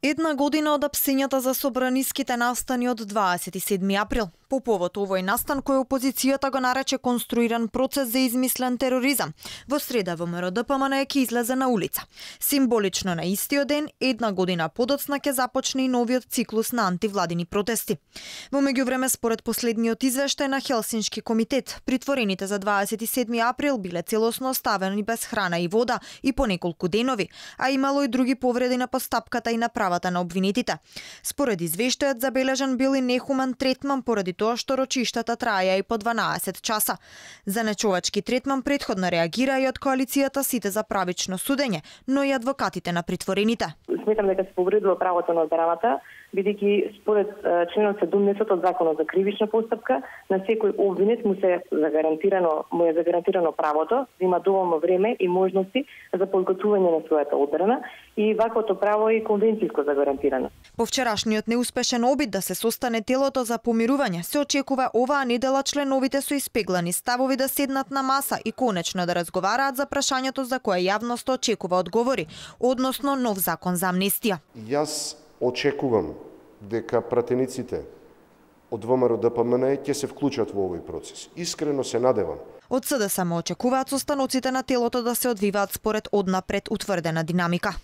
Една година од апсењата за собраниските настани од 27 април. По повод овој настан кој опозицијата го нарече конструиран процес за измислен тероризам, во среда ВМРО ДПМН ќе излезе на улица. Символично на истиот ден, една година подоцна ќе започне и новиот циклус на антивладини протести. Во меѓувреме, според последниот извештај на Хелсиншки комитет, притворените за 27 април биле целосно оставени без храна и вода и по неколку денови, а имало и други повреди на постапката и на правата на обвинетите. Според извештајот, забележан бил и нехумен третман поради тоа што рочиштата траја и по 12 часа. За нечовечки третман претходно реагира и од коалицијата Сите за правично судење, но и адвокатите на притворените. Сметам дека се повредува правото на одбраната, бидејќи според членот 17 од Законот за кривична постапка, на секој обвинет му е загарантирано правото да има доволно време и можности за подготвување на својата одбрана и ваквото право е конвенцијско загарантирано. По вчерашниот неуспешен обид да се состане телото за помирување, се очекува оваа недела членовите со испеглани ставови да седнат на маса и конечно да разговараат за прашањето за кое јавноста очекува одговори, односно нов закон за амнестија. Јас очекувам дека пратениците од ВМРО ДПМН ќе се вклучат во овој процес. Искрено се надевам. Од СДСМ очекуваат состаноците на телото да се одвиваат според однапред утврдена динамика.